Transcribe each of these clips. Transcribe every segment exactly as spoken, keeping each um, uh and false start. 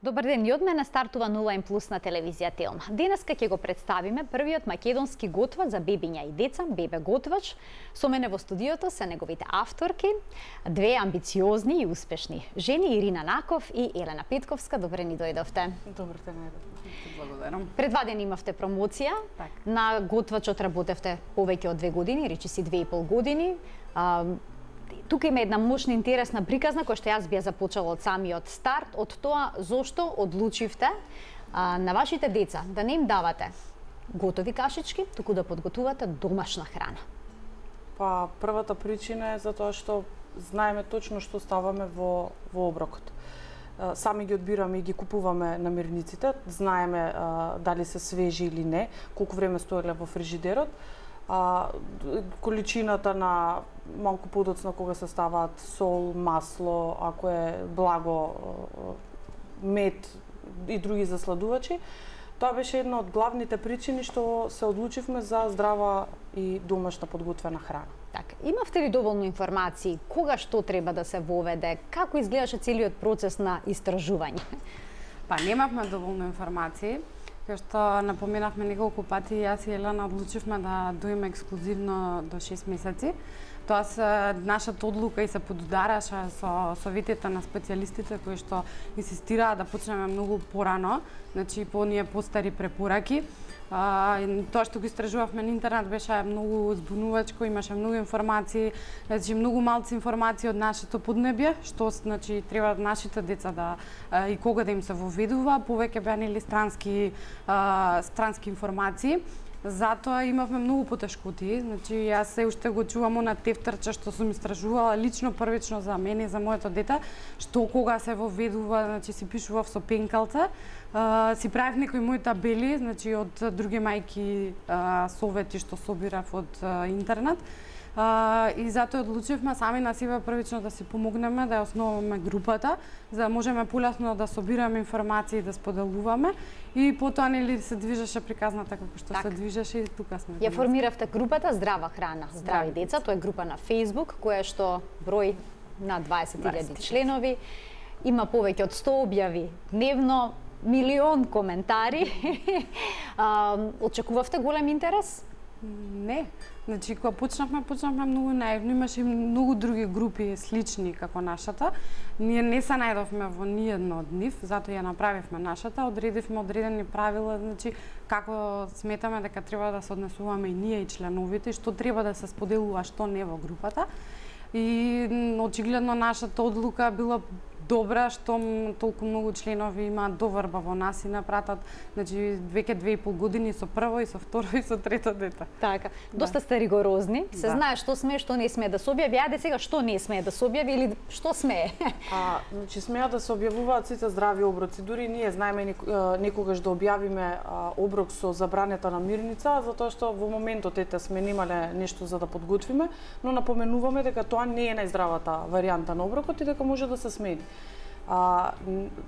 Добар ден, и од мене стартува нова импулс на телевизија Телма. Денеска ќе го представиме првиот македонски готвач за бебиња и деца, Бебе Готвач. Со мене во студиото се неговите авторки, две амбициозни и успешни жени, Ирина Наков и Елена Петковска. Добре ни дојдовте. Добар ден, благодарам. Пред два дена имавте промоција. Так. На Готвачот работевте повеќе од две години, речи си две и пол години. А, Тука има една мощна интересна приказна која што јас би ја започала од самиот старт, од тоа зошто одлучивте а, на вашите деца да не им давате готови кашички, туку да подготувате домашна храна. Па првата причина е затоа што знаеме точно што ставаме во во оброкот. Сами ги одбираме и ги купуваме намирниците, знаеме а, дали се свежи или не, колку време стоеле во фрижидерот. А, количината на малку подоцна кога се ставаат сол, масло, ако е благо мед и други засладувачи. Тоа беше една од главните причини што се одлучивме за здрава и домашна подготвена храна. Така, имавте ли доволно информации кога што треба да се воведе, како изгледаше целиот процес на истражување? Па немавме доволно информации. Кај што напоменавме неколку пати, јас и Елена одлучивме да доиме ексклузивно до шест месеци. Тоа се нашата одлука и се подудараше со советите на специјалистите кои што инсистираа да почнеме многу порано, значи по оние постари препораки. А, тоа што го истражувавме на интернет беше многу збунувачко, имаше многу информации, значи многу малци информации од нашето поднебје, што значи треба нашите деца да а, и кога да им се воведува, повеќе беа нели странски а, странски информации. Затоа имавме многу потешкоти, значи јас се уште го чувам на тефтерче што сум истражувала лично првично за мене и за моето дете, што кога се воведува, значи си пишував со пенкалце, а, си правев некои мои табели, значи од други мајки а, совети што собирав од а, интернет. Uh, и затоа одлучивме сами на себе првично да си помогнеме, да ја основаме групата, за да можеме полесно да собираме информации и да споделуваме. И потоа нели се движеше приказната како што так. се движеше и тука сме. Ја формиравте групата Здрава храна, здрави деца, тоа е група на Facebook која што брои на дваесет илјади членови, има повеќе од сто објави дневно, милион коментари. uh, очекувавте голем интерес? Не. Значи, кога почнавме, почнавме многу наивно, имаше и многу други групи слични како нашата. Ние не се најдовме во ниедно од нив, затоа ја направивме нашата, одредивме одредени правила, значи, како сметаме дека треба да се однесуваме и ние и членовите, што треба да се споделува, што не во групата. И очигледно нашата одлука била добра, што толку многу членови имаат доверба во нас и напратат, значи веќе две и пол години со прво и со второ и со трето дете. Така, доста сте ригорозни, се да. знае што смее, што не смее да се објави, ајде сега што не смее да се објави или што смее? А, значи смеат да се објавуваат сите здрави оброци, дури ние знаеме некогаш да објавиме а, оброк со забранета намирница, затоа што во моментот ете сме немале нешто за да подготвиме, но напоменуваме дека тоа не е најздравата варијанта на оброкот и дека може да се смени. А,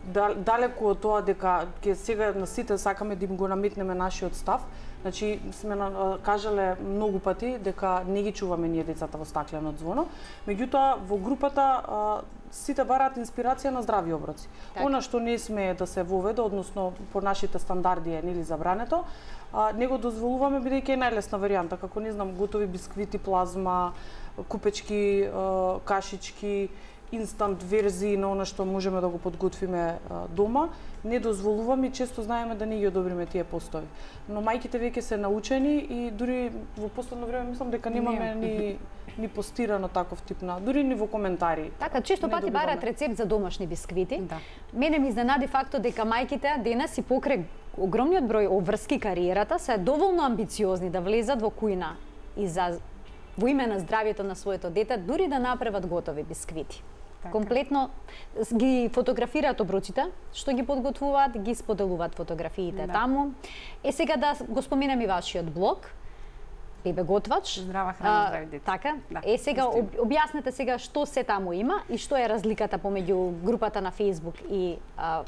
далеку од тоа дека ќе сега на сите сакаме да им го наметнеме нашиот став, значи сме на, кажале многу пати дека не ги чуваме ние децата во стаклено звоно, меѓутоа во групата а, сите бараат инспирација на здрави оброци. Так. Она што не смее да се воведе, односно по нашите стандарди е нели забрането, а, не го дозволуваме бидејќи е најлесна варијанта, како не знам готови бисквити, плазма, купечки, а, кашички, инстант верзии на она што можеме да го подготвиме а, дома, не дозволуваме и често знаеме да не ги одобриме тие постови. Но мајките веќе се научени и дури во последно време мислам дека немаме ни ни постирано таков тип на, дури ни во коментари. Така, често пати бараат рецепт за домашни бисквити. Да. Мене ми изненади фактот дека мајките денес и покрај огромниот број обврски кариерата се доволно амбициозни да влезат во кујна и за во име на здравјето на своето дете, дури да направат готови бисквити. Така. Комплетно ги фотографираат оброците, што ги подготвуваат, ги споделуваат фотографиите да. таму. Е сега да го споменам и вашиот блог, Бебе Готвач. Здрава храна, здрави деца. Така. Да, е сега об, објаснете сега што се таму има и што е разликата помеѓу групата на Facebook и а,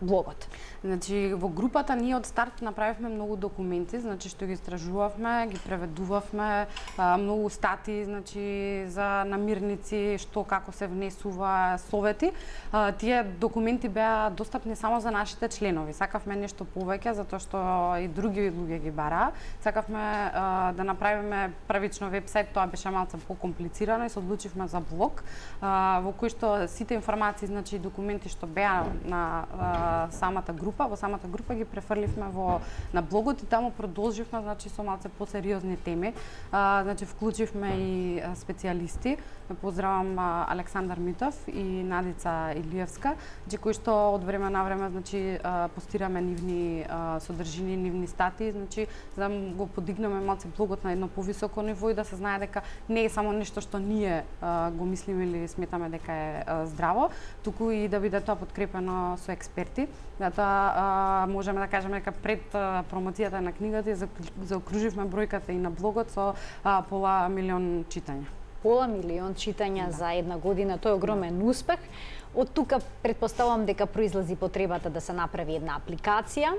блогот? Значи, во групата ние од старт направивме многу документи, значи што ги истражувавме, ги преведувавме, а, многу стати, значи за намирници, што како се внесува, совети. А, тие документи беа достапни само за нашите членови. Сакавме нешто повеќе затоа што и други луѓе ги бараа. Сакавме а, да направиме првично вебсайт, тоа беше малку покомплицирано и се одлучивме за блог, а, во кој што сите информации, значи документи што беа на а, самата група, во самата група ги префрливме во на блогот и таму продолживме, значи со малце посериозни теми. А, значи вклучивме и а, специјалисти. Поздравам а, Александар Митов и Надица Илиевска, значи кои што од време на време значи а, постираме нивни а, содржини, нивни статии, значи за да го подигнеме малце блогот на едно повисоко ниво и да се знае дека не е само нешто што ние а, го мислиме или сметаме дека е а, здраво, туку и да биде тоа подкрепено со експерти. Затоа можеме да кажеме дека пред а, промоцијата на книгата заокруживме бројката и на блогот со а, пола милион читања. Пола милион читања да. За една година, тој е огромен да. Успех. Од тука претпоставувам дека произлази потребата да се направи една апликација,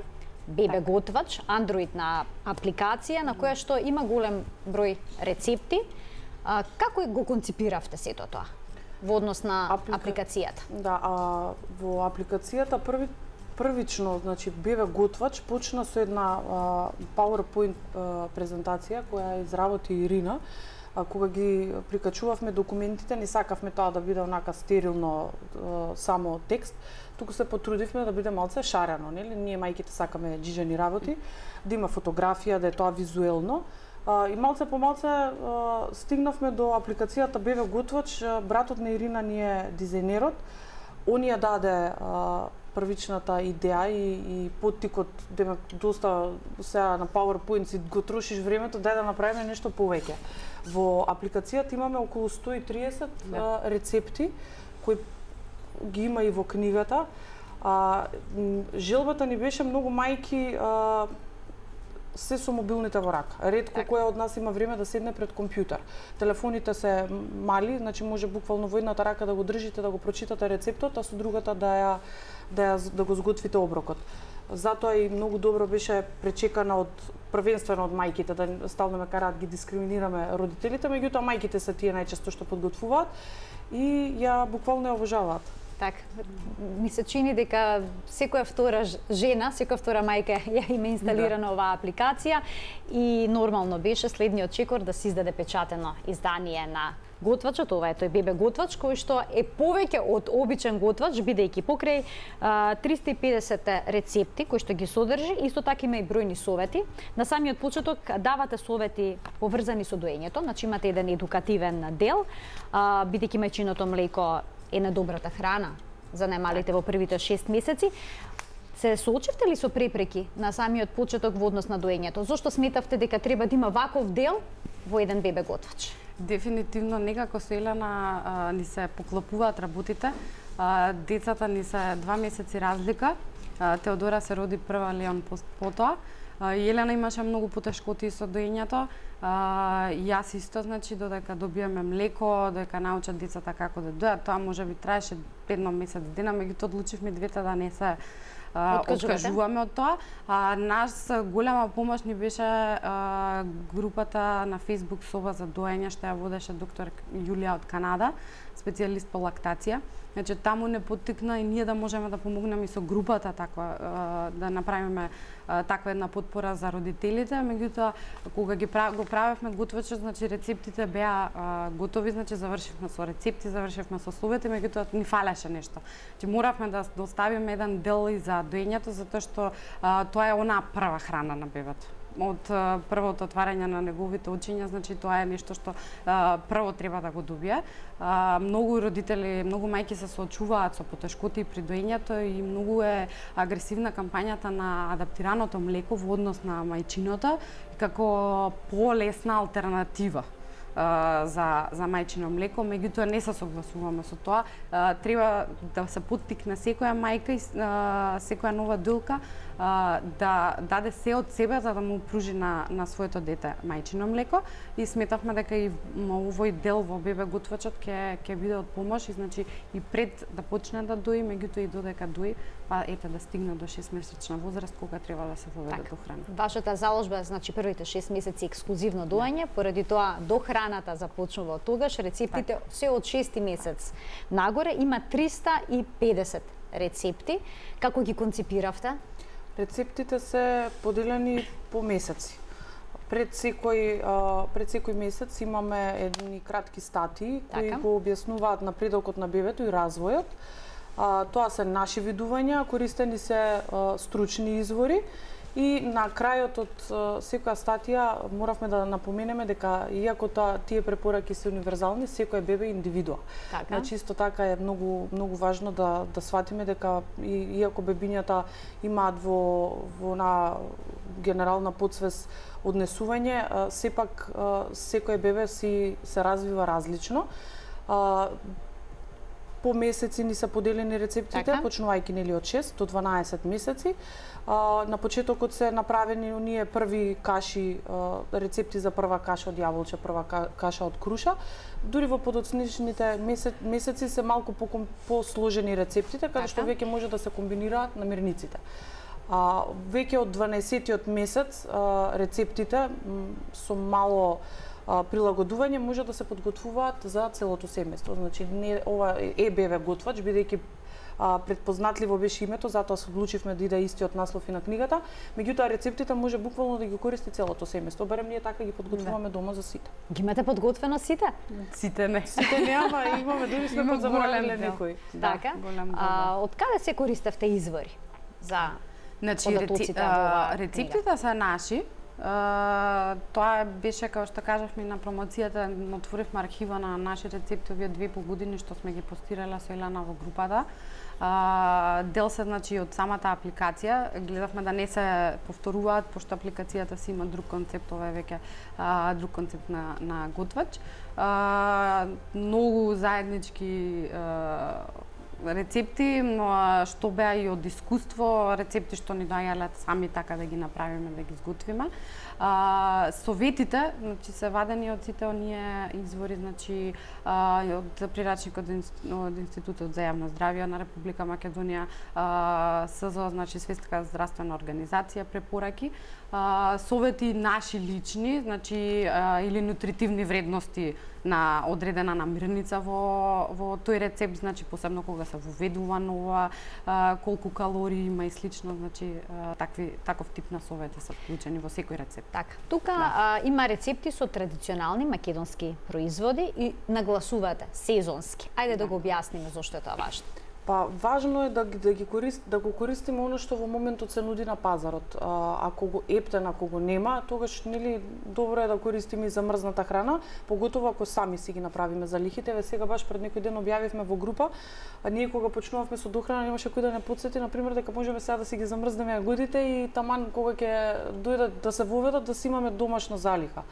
Бебе Готвач, андроидна апликација на која што има голем број рецепти. А, како го конципиравте сето тоа во однос на Аплика... апликацијата? Да, а, во апликацијата први првично, значи Бебе Готвач почна со една а, PowerPoint а, презентација која изработи Ирина. А, кога ги прикачувавме документите, не сакавме тоа да биде онака стерилно а, само текст, туку се потрудивме да биде малце шарено, нели? Ние мајките сакаме џиџани работи, да има фотографија, да е тоа визуелно. А, и малце по малце а, стигнавме до апликацијата Бебе Готвач. Братот на Ирина ни е дизајнерот. Он ја даде а, првичната идеја и, и поттикот, демек доста сега на PowerPoint си го трошиш времето, дај да направиме нешто повеќе. Во апликацијата имаме околу сто и триесет да. а, рецепти кои ги има и во книгата. А, желбата ни беше многу мајки а, се со мобилните во рака. Ретко так. Која од нас има време да седне пред компјутер. Телефоните се мали, значи може буквално во едната рака да го држите, да го прочитате рецептот, а со другата да ја да, ја, да го сготвите оброкот. Затоа и многу добро беше пречекана од првенствено од мајките, да стално ме караат ги дискриминираме родителите, меѓутоа мајките се тие најчесто што подготвуваат и ја буквално ја обожаваат. Так, ми се чини дека секоја втора жена, секоја втора мајка ја има инсталирана да. Оваа апликација и нормално беше следниот чекор да се издаде печатено издание на Готвачот. Ова е тој Бебе Готвач кој што е повеќе од обичен готвач, бидејќи покрај а, триста и педесет рецепти кои што ги содржи, исто така има и бројни совети. На самиот почеток давате совети поврзани со доењето, значи имате еден едукативен дел, а, бидејќи мајчиното млеко е најдобрата храна за најмалите во првите шест месеци. Се соочивте ли со препреки на самиот почеток во однос на доењето? Зошто сметавте дека треба да има ваков дел во еден Бебе Готвач? Дефинитивно некако со Елена а, ни се поклопуваат работите. А, децата ни се два месеци разлика. А, Теодора се роди прва, Леон потоа. Елена имаше многу потешкоти со доењето. А, јас исто, значи, додека добиеме млеко, додека научат децата како да дојат, тоа може би траеше едно месец дена, меѓутоа одлучивме двете да не се а, откажуваме од тоа. А, нас голема помош ни беше а, групата на Facebook Соба за доење, што ја водеше доктор Јулија од Канада, специјалист по лактација. Значи, таму не поттикна и ние да можеме да помогнеме и со групата таква, да направиме таква една потпора за родителите, меѓутоа кога ги прав, го правевме Готвачот, значи рецептите беа а, готови, значи завршивме со рецепти, завршивме со совети, меѓутоа ни фалеше нешто. Значи моравме да доставиме еден дел и за доењето затоа што а, тоа е онаа прва храна на бебето. Од а, првото отварање на неговите очиња, значи тоа е нешто што а, прво треба да го добие. А, многу родители, многу мајки се соочуваат со потешкоти при доењето и многу е агресивна кампањата на адаптираното млеко во однос на мајчиното како полесна алтернатива. за за мајчино млеко, меѓутоа не се согласуваме со тоа. А, треба да се поттикне секоја мајка и а, секоја нова дојлка а, да даде се од себе за да му пружи на на своето дете мајчино млеко и сметавме дека и овој дел во бебе готвачот ќе ќе биде од помош и значи и пред да почне да дои, меѓутоа и додека дои, па ете да стигне до шестмесечна возраст кога треба да се воведе до храна. Вашата заложба е значи првите шест месеци ексклузивно доање, поради тоа до храната започнува од тогаш, рецептите так. Се од шести месец нагоре има триста и педесет рецепти. Како ги концепиравте? Рецептите се поделени по месеци. Пред секој пред секој месец имаме едни кратки статии кои така. Го објаснуваат напредокот на бебето и развојот. А, тоа се наши видувања, користени се а, стручни извори и на крајот од а, секоја статија моравме да напоменеме дека иако тоа тие препораки се универзални, секој бебе е индивидуа. Така. Значи исто така е многу многу важно да да сватиме дека и, иако бебињата имаат во во на генерална подсвест однесување, а, сепак а, секој бебе си се развива различно. А, по месеци ни се поделени рецептите, така? Почнувајќи нели од шест до дванаесет месеци. А, на почетокот се направени оние први каши, а, рецепти за прва каша од јаболче, прва каша од круша. Дури во подоцничните месец, месеци се малку по посложени рецептите, каде што веќе може да се комбинираат намирниците. А, веќе од дванаесеттиот месец а, рецептите м, со мало а, прилагодување може да се подготвуваат за целото семејство. Значи не ова е бебе готвач, бидејќи а, предпознатливо беше името, затоа се одлучивме да иде истиот наслов и на книгата. Меѓутоа рецептите може буквално да ги користи целото семејство, барем ние така ги подготвуваме дома за сите. Ги имате подготвено сите? Сите не. Сите нема, имаме дури сме подзаборавиле некои. Така. А, од каде се користевте извори за Значи, реци... а, рецептите се наши. А, тоа беше, како што кажавме на промоцијата, отворивме архива на наши рецепти овие две по години што сме ги постирале со Елана во групата. А, дел се значи од самата апликација, гледавме да не се повторуваат, пошто апликацијата си има друг концепт, ова е веќе а, друг концепт на, на готвач. А, многу заеднички а, рецепти, но што беа и од искуство, рецепти што ни доаѓале сами така да ги направиме, да ги изготвиме. А, советите, значи се вадени од сите оние извори, значи а, од прирачникот од Институтот за јавно здравје на Република Македонија, а, СЗО, значи Светска здравствена организација, препораки, а, совети наши лични, значи а, или нутритивни вредности на одредена намирница во во тој рецепт, значи посебно кога се воведува нова, а, колку калории има и слично, значи а, такви таков тип на совети се вклучени во секој рецепт. Така. Тука да. а, има рецепти со традиционални македонски производи и нагласувате сезонски. Ајде да, да го објасниме зошто е тоа важно. Па важно е да да ги корист да го користиме оно што во моментот се нуди на пазарот. А, ако го ептен, ако го нема, тогаш нели добро е да користиме и замрзната храна, поготово ако сами си ги направиме залихите. Еве сега баш пред некој ден објавивме во група, а ние кога почнувавме со дохрана немаше кој да не потсети на пример дека можеме сега да си ги замрзнеме јагодите и таман кога ќе дојдат да се воведат да си имаме домашна залиха.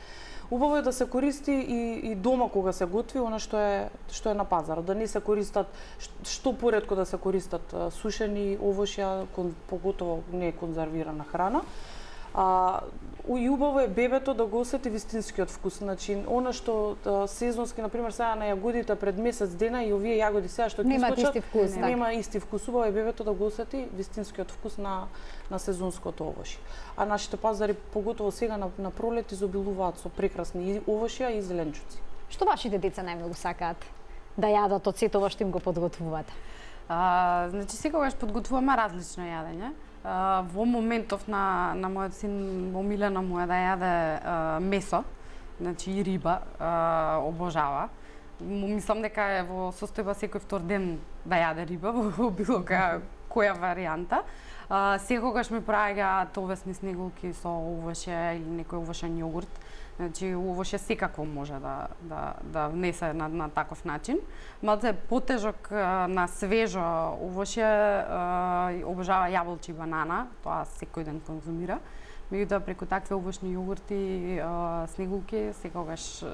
Убаво е да се користи и, и дома кога се готви она што е што е на пазарот, да не се користат што поретко да се користат сушени овошја, поготово не конзервирана храна. А, и убаво е бебето да го осети вистинскиот вкус, значи она што а, сезонски, на пример сега на јагодите пред месец дена и овие јагоди сега што ќе искочат, исти вкус, нема така. Исти вкус, убаво е бебето да го осети вистинскиот вкус на на сезонското овошје. А нашите пазари поготово сега на, на пролет изобилуваат со прекрасни овошја и зеленчуци. Што вашите деца најмногу сакаат да јадат од сето ова што им го подготвувате? А, значи секогаш подготвуваме различно јадење. Uh, во моментов на, на мојот син омилено му е да јаде uh, месо, значи и риба, uh, обожава. Мислам дека е во состојба секој втор ден да јаде риба во било која, која варијанта. Uh, секогаш ми праќаат овесни снеголки со овоше или некој овошен јогурт. Значи овоше секако може да да да внесе на на таков начин. Малце е потежок на свежо овоше, обожава јаболче и банана, тоа секој ден конзумира. Меѓутоа преку такви овошни јогурти, снегулки секогаш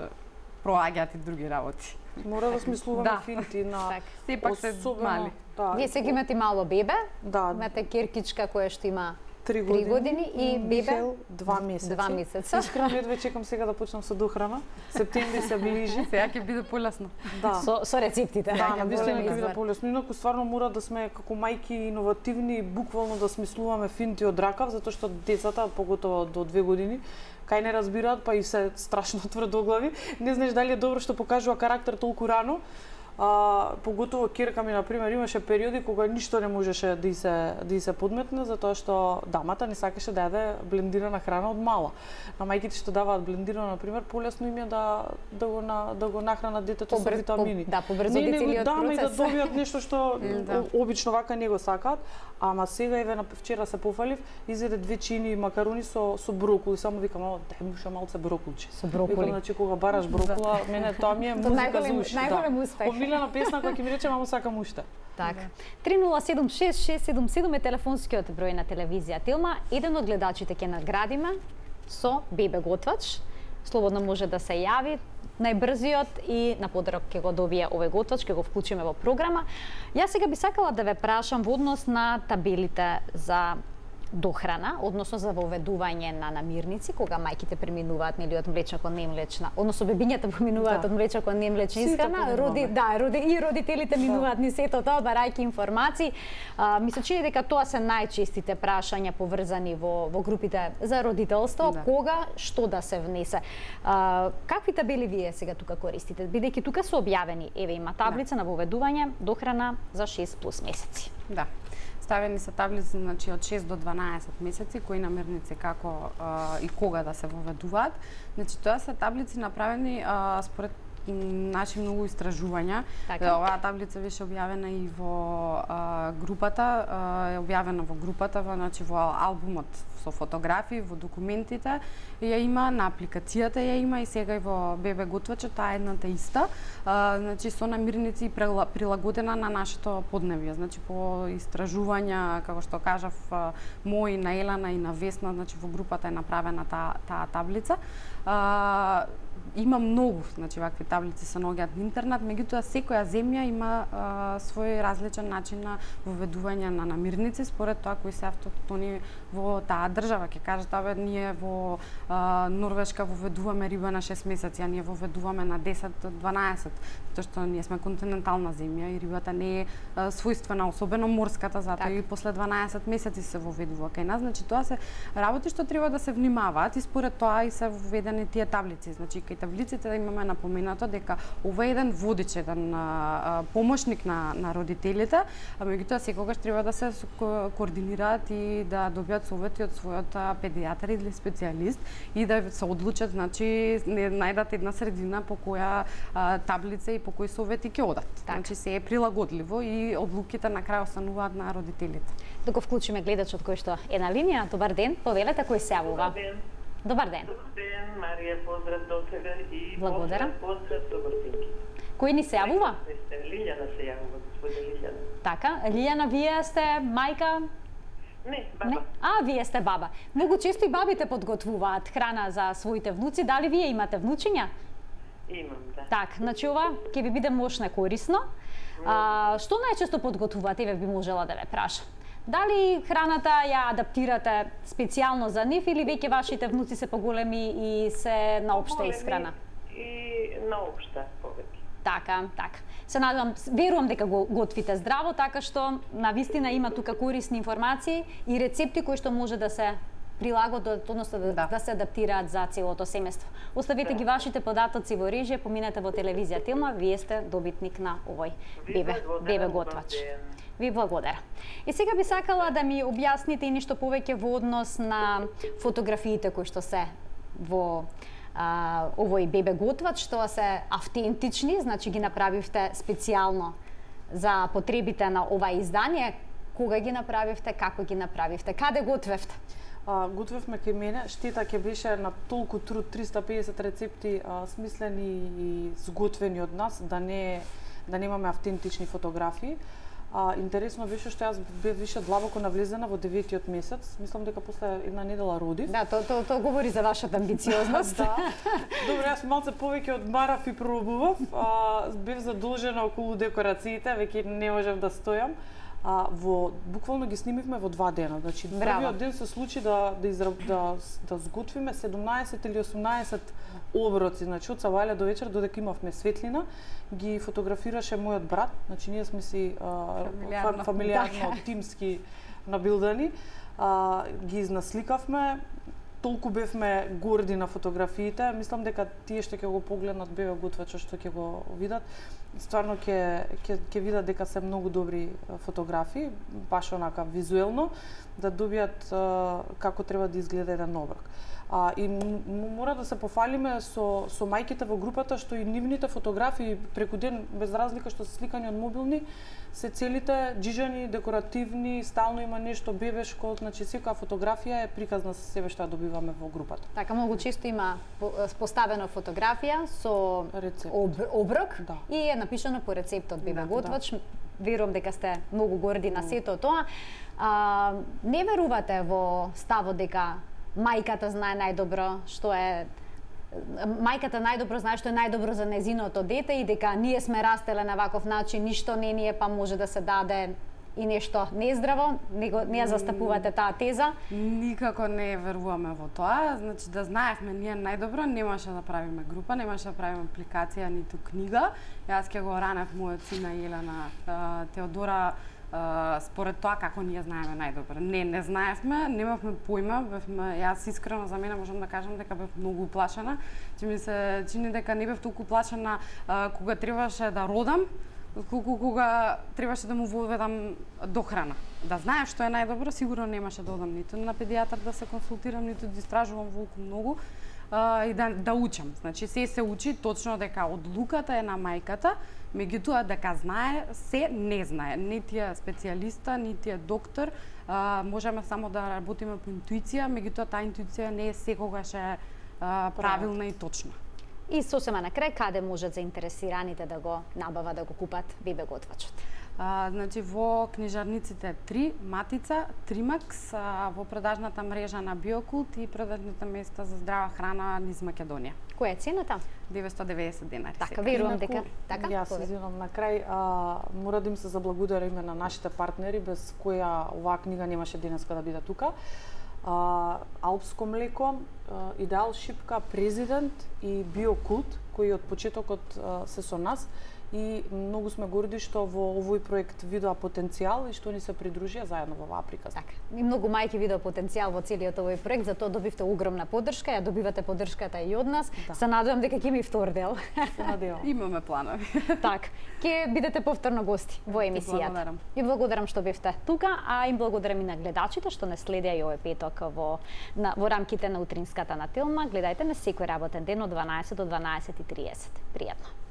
проаѓаат и други работи. Мора да смислуваме Да. финти на Так. Сепак се мали. Да, Вие сега имате мало бебе, да, имате киркичка која што има три три години и бебе Михаил два месеци. два месеца. Искрено едва чекам сега да почнам со дохрана. Септември се ближи. Сега ќе биде полесно. Да. со, со рецептите. Да, на вистина Голем ќе биде избор. полесно. Инаку стварно мора да сме како мајки иновативни, буквално да смислуваме финти од ракав, затоа што децата, поготово до две години, кај не разбираат, па и се страшно тврдоглави. Не знаеш дали е добро што покажува карактер толку рано. А, поготово ќерка ми, например, имаше периоди кога ништо не можеше да и се да и се подметне, затоа што дамата не сакаше да јаде блендирана храна од мала. На мајките што даваат блендирано, например, полесно им е да да го на, да го нахранат детето со Побр- витамини. по- да, побрзо не, не го целиот даме и да процес. добијат нешто што Да. о- обично вака не го сакаат. Ама сега еве на вчера се пофалив, изеде две чини макарони со со броколи, само викам, "О, дај му ше малце броколче." Со броколи. Викам, значи кога бараш брокола, мене тоа ми е То музика најголем- за уши. најголем успех. Омилена песна која ќе ми рече, мамо сакам уште. Така. три нула седум шест шест седум седум е телефонскиот број на телевизија Телма. Еден од гледачите ќе наградиме со бебе готвач. Слободно може да се јави најбрзиот и на подарок ќе го добие овој готвач, ќе го вклучиме во програма. Јас сега би сакала да ве прашам во однос на табелите за дохрана, односно за воведување на намирници, кога мајките преминуваат нели од млечна кон немлечна, односно бебињата преминуваат Да. од млечна кон немлечна Сите исхрана, преминуваме. роди, да, роди и родителите минуваат ни сето тоа барајќи информации. А, ми се чини дека тоа се најчестите прашања поврзани во во групите за родителство, Да. кога што да се внесе. А, какви табели вие сега тука користите? Бидејќи тука се објавени, еве има таблица на воведување дохрана за шест плюс месеци. Да. Ставени се таблици, значи од шест до дванаесет месеци, кои намирници како а, и кога да се воведуваат. Значи тоа се таблици направени а, според м, наши многу истражувања. Така. Оваа таблица беше објавена и во а, групата, а, е објавена во групата, во, значи во албумот со фотографии, во документите, ја има на апликацијата, ја има и сега и во бебе готвачот, таа е едната иста, а, значи со намирници прила- прилагодена на нашето подневје, значи по истражувања, како што кажав, а, мои, на Елана и на Весна, значи во групата е направена таа таа таблица. А, има многу, значи вакви таблици се наоѓаат на интернет, меѓутоа секоја земја има а, свој различен начин на воведување на намирници според тоа кои се автохтони во таа држава. Ќе кажат, абе ние во а, Норвешка воведуваме риба на шест месеци, а ние воведуваме на десет до дванаесет, затоа што ние сме континентална земја и рибата не е а, својствена, особено морската, затоа Так. и после дванаесет месеци се воведува кај нас. Значи тоа се работи што треба да се внимаваат и според тоа и се воведени тие таблици. Значи кај таблиците имаме напоменато дека ова е еден водич, еден а, а, помошник на на родителите, а меѓутоа секогаш треба да се ко- координираат и да добијат совети од својот а, педијатар или специјалист и да се одлучат, значи не најдат една средина по која а, таблица и по кои совети ќе одат. Така. Значи се е прилагодливо и одлуките на крај остануваат на родителите. Да го вклучиме гледачот кој што е на линија. Добар ден, повелете кој се јавува. Добар ден. Добар ден. Добар ден, Марија, поздрав до тебе и Благодарам. поздрав, поздрав до Бртинки. Кој ни се јавува? Лилјана се јавува, господин Лилјана. Така, Лијана, вие сте мајка? Не, баба. Не? А, вие сте баба. Многу често и бабите подготвуваат храна за своите внуци. Дали вие имате внучиња? Имам, да. Так, значи ова ќе ви биде мошне корисно. А, што најчесто подготвувате, еве би можела да ве прашам? Дали храната ја адаптирате специјално за нив или веќе вашите внуци се поголеми и се на општа Големи исхрана? И на општа повеќе. Така, така. Се надевам, верувам дека го готвите здраво, така што на вистина има тука корисни информации и рецепти кои што може да се прилагодат, односно да, Да. да се адаптираат за целото семејство. Оставете ги вашите податоци во режија, поминете во телевизија Телма, вие сте добитник на овој Ви бебе, благодарам, бебе добар готвач. ден. Ви благодарам. И сега би сакала да ми објасните и нешто повеќе во однос на фотографиите кои што се во а, овој бебе готвач, што се автентични, значи ги направивте специјално за потребите на ова издание. Кога ги направивте, како ги направивте, каде готвевте? А, готвевме кај мене, штета ќе беше на толку труд, триста и педесет рецепти а, смислени и сготвени од нас, да не да немаме автентични фотографии. А, интересно беше што јас бев више длабоко навлезена во деветиот месец. Мислам дека после една недела родив. Да, тоа то, то говори за вашата амбициозност. Да. Добро, јас малце повеќе одмарав и пробував. А, бев задолжена околу декорациите, веќе не можев да стојам. А, во буквално ги снимивме во два дена. Значи првиот ден се случи да да, изра... да да сготвиме седумнаесет или осумнаесет оброци, значи од сабајле до вечер додека имавме светлина, ги фотографираше мојот брат, значи ние сме си а, фамилиарно, фамилиарно тимски набилдани, а, ги изнасликавме. Толку бевме горди на фотографиите, мислам дека тие што ќе го погледнат бебе готвачо што ќе го видат, стварно ќе ќе ќе видат дека се многу добри фотографии, баш онака визуелно, да добијат а, како треба да изгледа еден оброк. А, и мора да се пофалиме со, со мајките во групата што и нивните фотографии преку ден, без разлика што се сликани од мобилни, се целите джижани, декоративни, стално има нешто бебешко, значи секоја фотографија е приказна со себе што ја добиваме во групата. Така, многу често има поставена фотографија со рецепт. Об, оброк Да. и е напишано по рецептот бебе Да, готвач. Да. Верувам дека сте многу горди на сето тоа. А, не верувате во ставот дека мајката знае најдобро што е мајката најдобро знае што е најдобро за незиното дете и дека ние сме растеле на ваков начин, ништо не ни е па може да се даде и нешто нездраво, него не ја застапувате таа теза? Никако не веруваме во тоа. Значи да знаевме ние најдобро, немаше да правиме група, немаше да правиме апликација ниту книга. Јас ќе го ранев мојот син на Елена, Теодора, Uh, според тоа како ние знаеме најдобро. Не, не знаевме, немавме појма, бевме, јас искрено за мене можам да кажам дека бев многу уплашена, че ми се чини дека не бев толку уплашена uh, кога требаше да родам, колку кога требаше да му воведам дохрана. Да знаев што е најдобро, сигурно немаше да одам ниту на педијатар да се консултирам, ниту да истражувам волку многу uh, и да, да учам. Значи се се учи точно дека одлуката е на мајката, меѓутоа дека знае, се не знае. Нити е специјалиста, нити е доктор, а, можеме само да работиме по интуиција, меѓутоа таа интуиција не е секогаш е а, правилна и точна. И сосема на крај, каде можат заинтересираните да го набават, да го купат бебе готвачот? А, значи во книжарниците три, Матица, Тримакс, а, во продажната мрежа на Биокулт и продажните места за здрава храна низ Македонија. Која е цената? деветстотини и деветдесет денари. Така, верувам дека така. Јас извинувам на крај, а, мора да им се заблагодариме на нашите партнери без која оваа книга немаше денеска да биде тука. А, Алпско млеко, а, Идеал Шипка, Президент и Биокулт, кои од почетокот а, се со нас и многу сме горди што во овој проект видоа потенцијал и што ни се придружија заедно во оваа приказна. Така. И многу мајки видоа потенцијал во целиот овој проект, затоа добивте огромна поддршка, ја добивате поддршката и од нас. Да. Се надевам дека ќе ми втор дел. Се надевам. Имаме планови. Так, ќе бидете повторно гости во емисијата. Благодарам. И благодарам што бевте тука, а им благодарам и на гледачите што не следеа и овој петок во на, во рамките на утринската на Телма. Гледајте на секој работен ден од дванаесет до дванаесет и триесет. Пријатно.